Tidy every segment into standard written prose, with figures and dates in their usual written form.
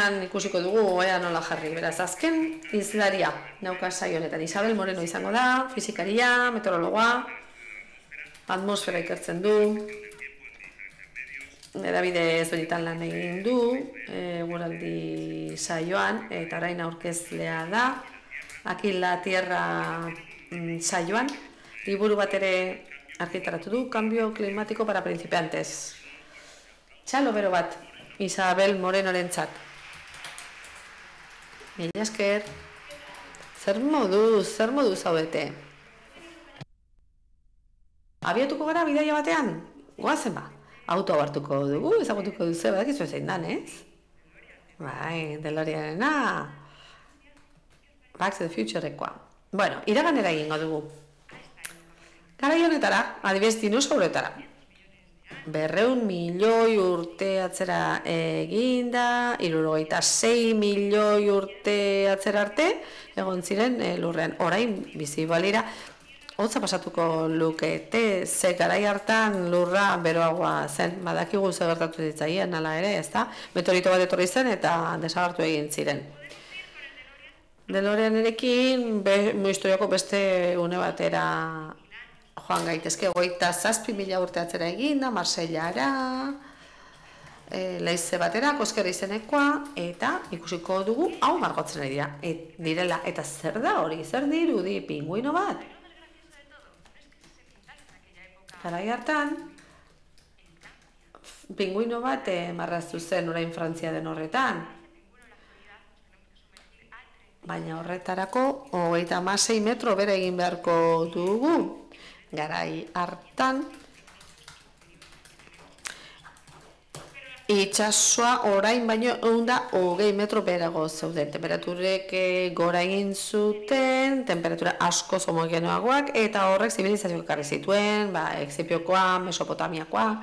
Azkenean ikusiko dugu, ea nola jarri. Beraz, azken izlaria nauka saio honetan. Isabel Moreno izango da, fizikaria, meteorologoa, atmosfera ikertzen du, edabide ezberdinetan lan egin du, eguraldi saioan, eta orain aurkezlea da, Aquí la Tierra saioan, liburu bat ere argitaratu du, Cambio climático para principiantes. Txalo bero bat, Isabel Morenorentzat. Mila esker, zer moduz zaudete? Abiatuko gara bidaia batean? Goazen ba, auto hartuko dugu, ezagutuko duzu, badakizu zein dan, ez? Bai, DeLoreanena, Back to the Futurekoa. Bueno, iraganera egingo dugu. Garai honetara, adibidez dinosauroetara. 200 milioi urte atzera eginda, 76 milioi urte atzera arte, egon ziren lurrean. Orain bizi balira, hotza pasatuko lukete, ze garai hartan lurra beroagoa zen, badakigu ze gertatu ditzaien, hala ere, ezta? Meteorito bat etorri zen eta desagertu egin ziren. DeLoreanerekin historiako beste une batera joan gaitezke, 27.000 urte atzera eginda, Marsellara, leize batera, Kosker izenekoa, eta ikusiko dugu hau margotzen direla. Eta zer da hori, zer dirudi, pinguino bat? Garai hartan, pinguino bat marraztu zen orain Frantzia den horretan. Baina horretarako 36 metro bere egin beharko dugu. Garai hartan itsasoa orain baino 120 metro beherago zeuden. Temperaturek gora egin zuten, temperatura asko homogenoagoak, eta horrek zibilizazioak ekarri zituen, Exipiokoa, Mesopotamiakoa,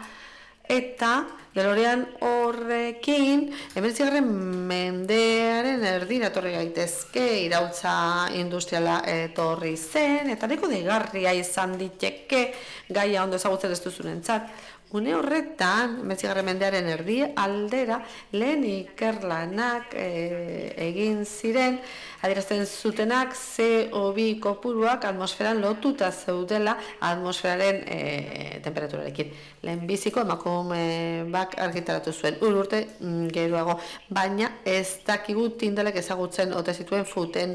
eta DeLorean horrekin 19. mendearen erdira etorri gaitezke, iraultza industriala etorri zen, eta nahiko deigarria izan diteke gaia ondo ezagutzen ez duzunentzat. Une horretan, 19. mendearen erdi aldera, lehen ikerlanak egin ziren, adierazten zutenak CO2 kopuruak atmosferan lotuta zeudela atmosferaren temperaturarekin. Lehenbiziko emakume bak argitaratu zuen, urte geroago, baina ez dakigu tindalek ezagutzen ote zituen futen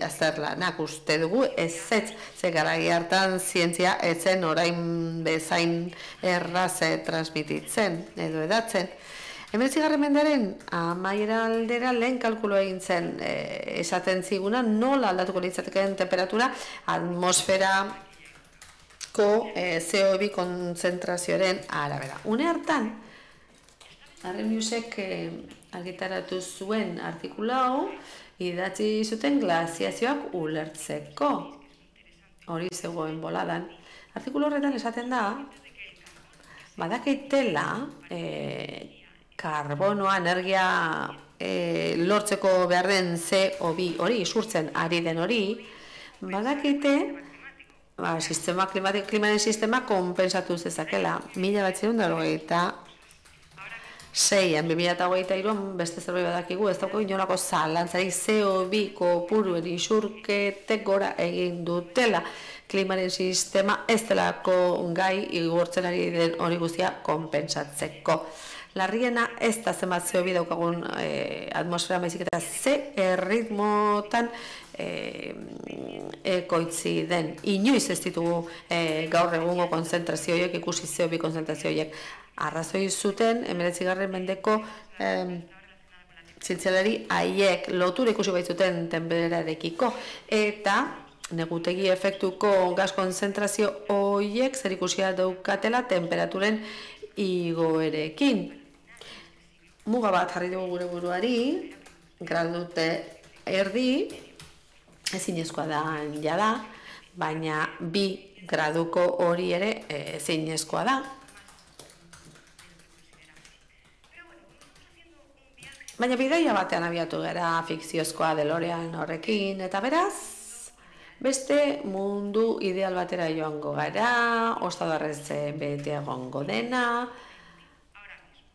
azterlanak. Uste dugu ez ze garai hartan zientzia etzen orain bezain erraz transmititzen edo edatzen. 19. mendearen amaiera aldera lehen kalkulo egin zen esaten ziguna nola aldatuko litzatekeen temperatura atmosferako CO2 konzentrazioaren arabera. Une hartan, Arrheniusek argitaratu zuen artikula hau idatzi zuten glaziazioak ulertzeko. Hori zegoen boladan. Artikulu horretan esaten da badakitela karbonoa, energia lortzeko behar den CO2 hori, isurtzen ari den hori, badakite klimaren sistema konpensatu zezakela. 1986an, 2023an beste zerbait badakigu, ez daukagu inolako zalantzarik CO2 kopuruen isurketek gora egin dutela. Klimaren sistema ez delako gai igortzen ari den hori guztia konpensatzeko. Larriena ez da zenbat CO2 daukagun atmosfera baizik eta ze erritmotan ekoitzi den. Inoiz ez ditugu gaur egungo konzentrazioiek, ikusi CO2 konzentrazioiek. Arrazoi zuten, 19. mendeko zientzialari haiek lotura ikusi baitzuten tenperarekiko, eta negutegi efektuko gas konzentrazio horiek zer ikusia daukatela temperaturen igoerekin. Muga bat jarri dugu gure buruari, gradute erdi, ezinezkoa da jada, baina 2 graduko hori ere ezinezkoa da. Baina bidaia batean abiatu gara fikziozkoa DeLorean horrekin, eta beraz, beste mundu ideal batera joango gara, ostadarrez bete egongo dena,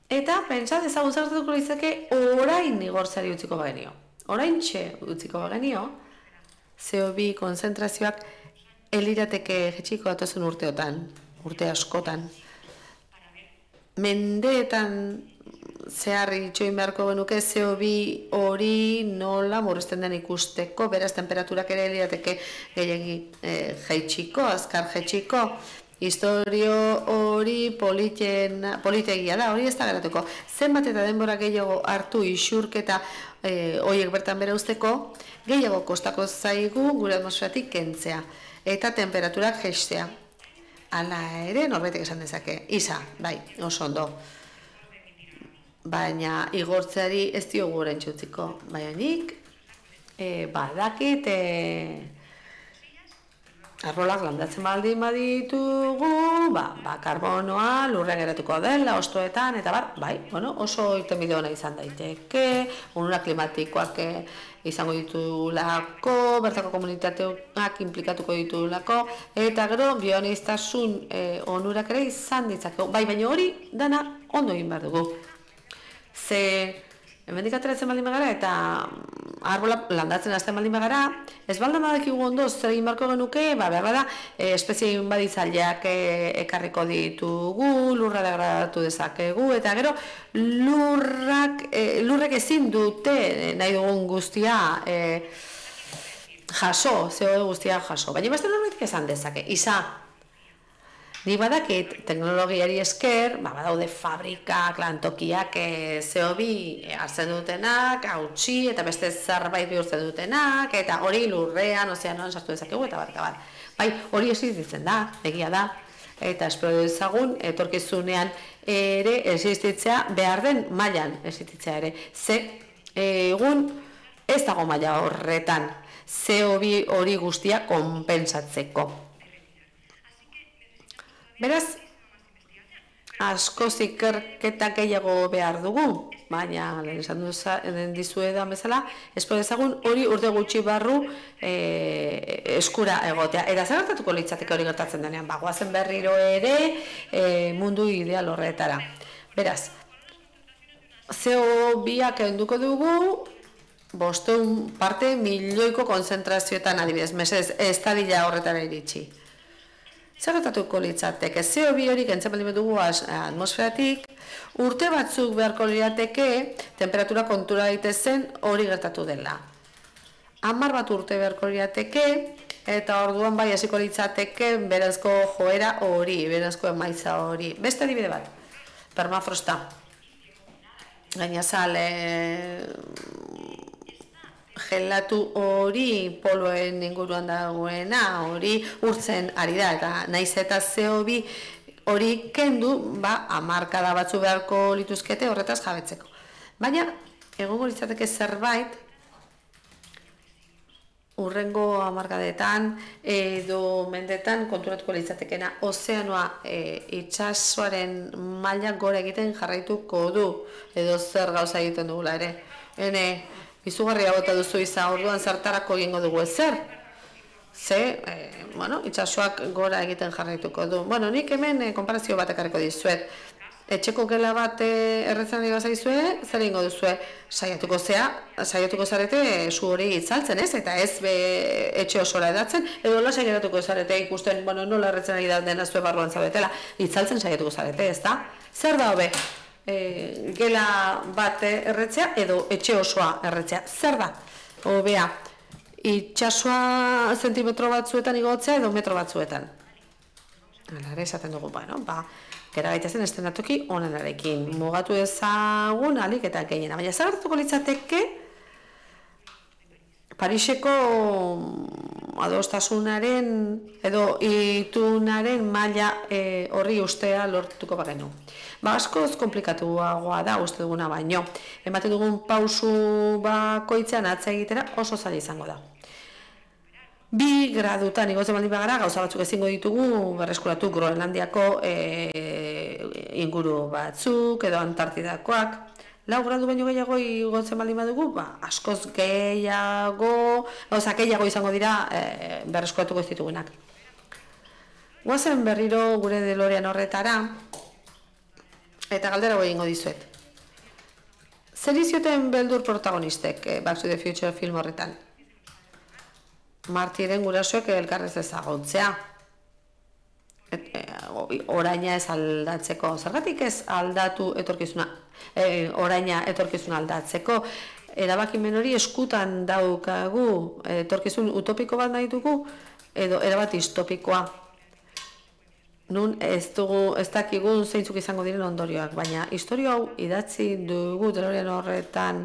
Eta, pentsa, ezagun zertatuko litzake orain igortzari utziko bagenio. Orain utziko bagenio, CO2 konzentrazioak elirateke jetxiko datozen urteotan, urte askotan. Mendeetan zeharri itxoin beharko genuke CO2 hori nola murrizten den ikusteko, beraz temperaturak ere elirateke gehiagi jaitsiko, azkar jaitsiko. Historio hori politegia da, hori ez da geratuko. Zenbat eta denbora gehiago hartu isurketa horiek bertan bera usteko, gehiago kostako zaigu gure atmosferatik kentzea eta temperaturak jaistea. Hala ere, norbaitek esan dezake, isa, bai, oso ondo. Baina igortzeari ez diogu orain txutziko. Baina nik, badakit, arrolak landatzen baldin baditugu, karbonoa lurrean geratuko dela, ostoetan, eta bai, oso irtenbide ona izan daiteke, onura klimatikoak izango ditulako, bertako komunitateak implikatuko ditulako, eta gero bioaniztasun onurak ere izan ditzako. Bai, baina hori dana ondo egin behar dugu. Ze, hemendik ateratzen baldin bagara eta arbola landatzen hasten baldin bagara, ez baldin badakigu ondo zer egin beharko genuke, behar da, espezie baditzaileak ekarriko ditugu, lurra degradatu dezakegu, eta gero lurrek ezin dute nahi dugun guztia jaso, CO2 guztia jaso. Baina beste norbaitek esan dezake, isa, ni badakit teknologiari esker, badaude fabrikak, lantokiak CO2 hartzen dutenak, hautsi eta beste zerbait bihurtzen dutenak, eta hori lurrean, ozeanoan sartu dezakegu eta bat. Bai, hori existitzen da, egia da, eta espero dezagun etorkizunean ere existitzea behar den mailan existitzea ere. Ze egun ez dago maila horretan CO2 hori guztia konpensatzeko. Beraz, askoz ikerketa gehiago behar dugu, baina lehen esan dizuedan bezala, espero dezagun hori urte gutxi barru eskura egotea. Eta zer gertatuko litzateke hori gertatzen denean, goazen berriro ere mundu ideal horretara. Beraz, CO2ak enduko dugu, 500 parte milioiko konzentrazioetan adibidez, mesedez, ez dadila horretara iritsi. Zer gertatuko litzateke, CO2 hori kentzen baldin dugu atmosferatik, urte batzuk beharko lirateke temperatura kontura daitezen hori gertatu dela. 10 bat urte beharko lirateke, eta orduan bai hasiko litzateke berazko joera hori, berazko emaitza hori. Beste adibide bat, permafrosta. Gainazal, gelatu hori poloen inguruan dagoena, hori urtzen ari da, eta naiz eta CO2 hori kendu, hamarkada batzu beharko lituzkete horretaz jabetzeko. Baina, egongo litzateke zerbait, urrengo hamarkadetan edo mendetan konturatuko litzatekena, ozeanoa itsasoaren maila gora egiten jarraituko du, edo zer gauza egiten dugula ere. Izugarria bota duzu izan, orduan zertarako egingo dugu ezer. Ze, itsasoak gora egiten jarraituko du. Nik hemen konparazio bat ekarriko dizuet. Etxeko gela bat erretzen ari bazaizue, zer egingo duzue? Saiatuko zarete su hori itzaltzen, ez? Eta ez etxe osora edatzen, edo lasai geratuko zarete ikusten, nola erretzen ari dena zue barruan zaudetela. Itzaltzen saiatuko zarete, ez da? Zer da hobe? Gela bat erretzea edo etxe osoa erretzea. Zer da? Hobea, itsasoa zentimetro batzuetan igotzea edo metro batzuetan. Hala ere esaten dugu, gera gaitezen estenatoki onenarekin. Mugatu ezagun alik eta gehiena. Baina zer gertatuko litzateke Pariseko adostasunaren edo itunaren maila horri ustea lortuko bagenu. Askoz komplikatuagoa da uste duguna baino. Ematen dugun pausu bakoitzean atza egitera oso zaila izango da. 2 gradutan igotzen baldin bagara, gauza batzuk ezingo ditugu berreskuratu Groenlandiako inguru batzuk edo Antartidakoak. 4 gradu baino gehiago igotzen baldin badugu, askoz gehiago izango dira berreskuratuko ez ditugunak. Goazen berriro gure DeLorean horretara, Eta galdera egingo dizuet. Zer izioten beldur protagonistek Back to the Future film horretan? Martiren gurasoek elkarrez ezagutzea. Oraina ez aldatzeko. Zergatik ez aldatu etorkizuna, oraina etorkizuna aldatzeko. Erabakimen hori eskutan daukagu, etorkizun utopiko bat nahi dugu, edo erabat distopikoa. Nun ez dakigun zeintzuk izango diren ondorioak, baina historia hau idatzi dugu DeLorean horretan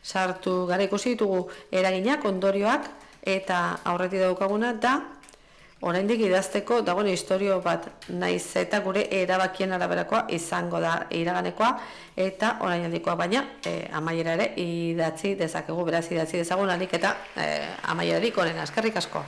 sartu gara ikusi ditugu eraginak, ondorioak, eta aurretik daukaguna da oraindik idazteko dagoen istorio bat, naiz eta gure erabakien araberakoa izango da iraganekoa eta orainaldikoa, baina amaiera ere idatzi dezakegu, beraz idatzi dezagun ahalik eta amaierarik onena. Eskerrik asko.